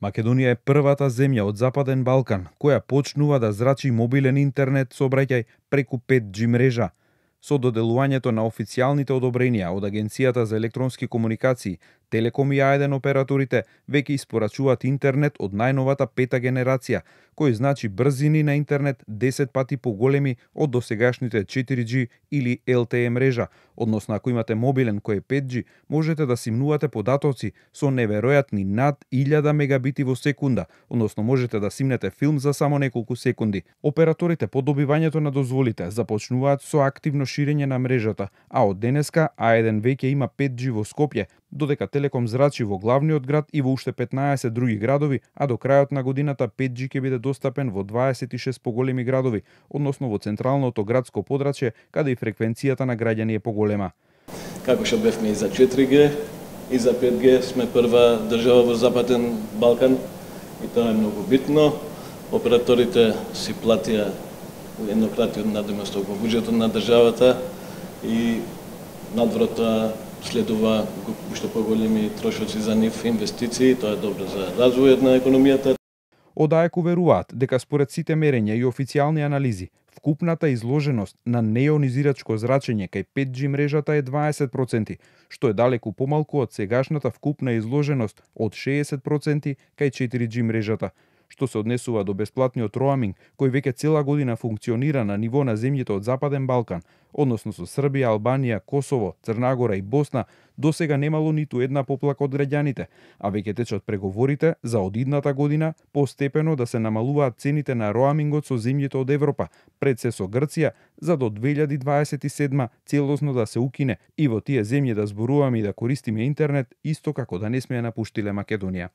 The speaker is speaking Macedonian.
Македонија е првата земја од Западен Балкан која почнува да зрачи мобилен интернет сообраќај преку 5G мрежа. Со доделувањето на официјалните одобренија од Агенцијата за електронски комуникации, Телеком и А1 операторите веќе испорачуваат интернет од најновата пета генерација, кој значи брзини на интернет 10 пати поголеми од досегашните 4G или LTE мрежа, односно ако имате мобилен кој е 5G, можете да симнувате податоци со неверојатни над 1000 мегабити во секунда, односно можете да симнете филм за само неколку секунди. Операторите по добивањето на дозволите започнуваат со активно ширење на мрежата, а од денеска А1 веќе има 5G во Скопје, додека Телеком зрачи во главниот град и во уште 15 други градови, а до крајот на годината 5G ќе биде достапен во 26 поголеми градови, односно во централното градско подрачје, каде и фреквенцијата на граѓани е поголема. Како што бевме и за 4G, и за 5G, сме прва држава во Западен Балкан и тоа е многу битно. Операторите си платија еднократен надоместок во буџетот на државата и надвор тоа следува уште поголеми трошоци за нив инвестиции, тоа е добро за развојот на економијата. Од АЕК уверуваат дека според сите мерења и официјални анализи, вкупната изложеност на неионизирачко зрачење кај 5G мрежата е 20%, што е далеку помалку од сегашната вкупна изложеност од 60% кај 4G мрежата. Што се однесува до бесплатниот роаминг, кој веќе цела година функционира на ниво на земјите од Западен Балкан, односно со Србија, Албанија, Косово, Црна Гора и Босна, досега немало ниту една поплака од граѓаните, а веќе течат преговорите за од идната година постепено да се намалуваат цените на роамингот со земјите од Европа, пред се со Грција, за до 2027 целосно да се укине и во тие земји да зборуваме и да користиме интернет, исто како да не сме ја напуштиле Македонија.